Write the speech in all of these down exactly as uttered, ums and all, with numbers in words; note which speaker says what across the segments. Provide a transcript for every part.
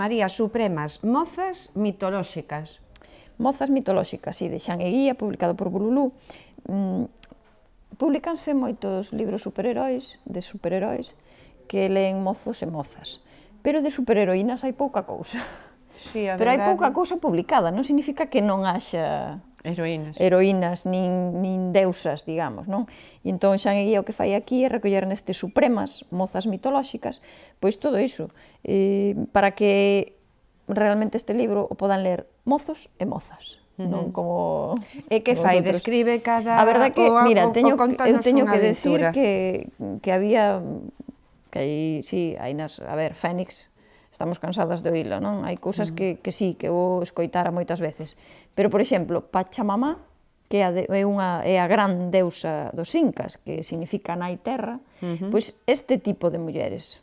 Speaker 1: María, Supremas, mozas mitolóxicas.
Speaker 2: Mozas mitolóxicas, sí, de Xan Eguía, publicado por Bululú. Mm, Publicanse moitos libros superheróis, de superheróis, que leen mozos e mozas. Pero de superheroínas hai pouca cousa.
Speaker 1: Sí, a
Speaker 2: Pero hai
Speaker 1: verdade.
Speaker 2: pouca cousa publicada, non significa que non haxa
Speaker 1: Heroínas.
Speaker 2: heroínas, nin, nin deusas, digamos, non? E entón Xan Eguía o que fai aquí é recoller nestes Supremas, mozas mitolóxicas, pois todo iso, eh, para que realmente este libro o podan ler mozos e mozas. Non como...
Speaker 1: E que fai? Describe cada...
Speaker 2: A verdade que, mira, teño, eu teño que decir
Speaker 1: aventura.
Speaker 2: que, que había, que hai, sí, hai nas, a ver, Fénix, estamos cansadas de oíla, non? Hai cousas que, que sí, que vou escoitara moitas veces. Pero, por exemplo, Pachamama, que é a, de, é unha, é a gran deusa dos incas, que significa nai terra, uh-huh. pois este tipo de mulleres,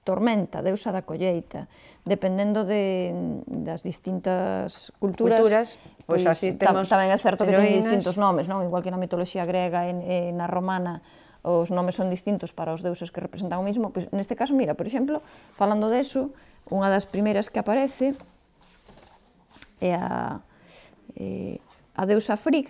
Speaker 2: Tormenta, deusa da colleita, dependendo de, das distintas culturas,
Speaker 1: culturas pois, pois así temos
Speaker 2: tamén é certo que
Speaker 1: heroínas.
Speaker 2: ten distintos nomes, non? Igual que na mitoloxía grega e, e na romana os nomes son distintos para os deuses que representan o mismo, pois neste caso, mira, por exemplo, falando deso, unha das primeiras que aparece é a, eh, a deusa Frigg,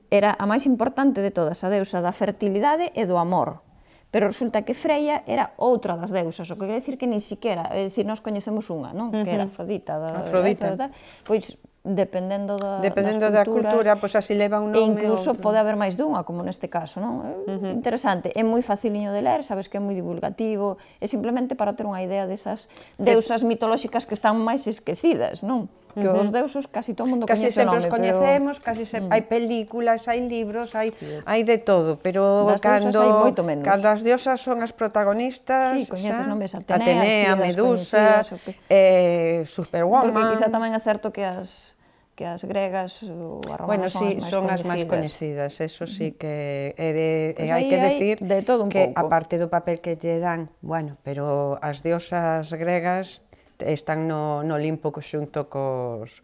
Speaker 2: era a máis importante de todas, a deusa da fertilidade e do amor. Pero resulta que Freya era outra das deusas, o que quer decir que ni siquiera, é dicir, nós coñecemos unha, non? Que era Afrodita, da,
Speaker 1: Afrodita.
Speaker 2: Da, da, pois dependendo da,
Speaker 1: dependendo
Speaker 2: das
Speaker 1: da
Speaker 2: culturas,
Speaker 1: cultura, pois así leva un nome.
Speaker 2: E incluso
Speaker 1: outro.
Speaker 2: pode haber máis dunha, como neste caso, non? É uh-huh. interesante, é moi faciliño de ler, sabes que é moi divulgativo, é simplemente para ter unha idea desas deusas mitolóxicas que están máis esquecidas, non? Que uh-huh. os deusos casi todo o mundo
Speaker 1: casi
Speaker 2: coñece o nome,
Speaker 1: sempre os coñecemos,
Speaker 2: pero...
Speaker 1: casi se...
Speaker 2: Mm.
Speaker 1: hai películas, hai libros, hai, sí, hai de todo, pero
Speaker 2: das
Speaker 1: cando,
Speaker 2: deusas hai moito menos.
Speaker 1: cando as diosas son as protagonistas,
Speaker 2: sí, coñeces nomes, Atenea,
Speaker 1: Atenea,
Speaker 2: sí,
Speaker 1: Medusa,
Speaker 2: que...
Speaker 1: eh, Superwoman...
Speaker 2: Porque quizá tamén é certo que as que as gregas ou as romanas
Speaker 1: bueno, sí,
Speaker 2: son as máis
Speaker 1: son
Speaker 2: coñecidas.
Speaker 1: as máis coñecidas, eso sí que é de,
Speaker 2: pues
Speaker 1: hai que decir
Speaker 2: de todo un
Speaker 1: que
Speaker 2: pouco.
Speaker 1: aparte do papel que lle dan, bueno, pero as diosas gregas están no, no Olimpo xunto cos,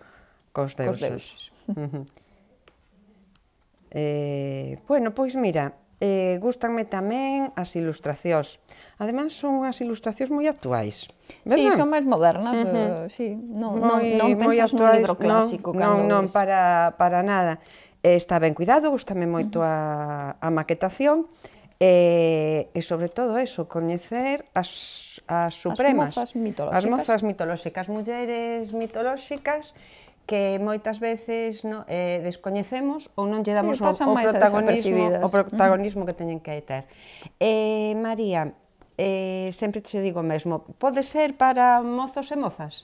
Speaker 1: cos deuses.
Speaker 2: Cos deuses.
Speaker 1: Uh -huh. eh, bueno, pois mira, eh, gustanme tamén as ilustracións. Ademais, son unhas ilustracións moi actuais, verdad?
Speaker 2: Sí, son máis modernas, uh -huh. uh, sí. Non, non, non pensas nun libro clásico.
Speaker 1: Non, non, non para, para nada. Eh, está ben cuidado, gustame moito uh -huh. a, a maquetación, e, e sobre todo eso, coñecer as, as supremas.
Speaker 2: As mozas mitolóxicas.
Speaker 1: As mozas mitolóxicas, mulleres mitolóxicas, que moitas veces no, eh, descoñecemos ou non lle damos sí, o, o protagonismo, o protagonismo uh -huh. que teñen que ter. Eh, María, eh, sempre te digo o mesmo, pode ser para mozos e mozas?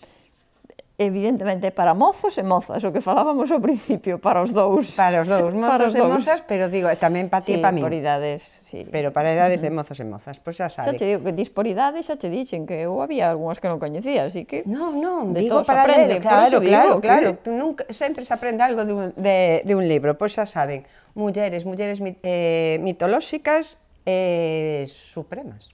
Speaker 2: Evidentemente para mozos e mozas, o que falábamos ao principio, para os dous.
Speaker 1: Para os dous, mozos e mozas, pero digo, tamén para ti e para mí.
Speaker 2: Sí, por idades, sí.
Speaker 1: Pero para idades de mozos e mozas, pois xa sabe.
Speaker 2: Xa te digo que dis por idades, xa te dixen que eu había algunhas que non coñecía, así que...
Speaker 1: Non, non,
Speaker 2: de
Speaker 1: digo para ler, claro, claro, claro. Tú nunca, sempre se aprende algo de un, de, de un libro, pois xa saben, mulleres, mulleres eh, mitolóxicas e eh, supremas.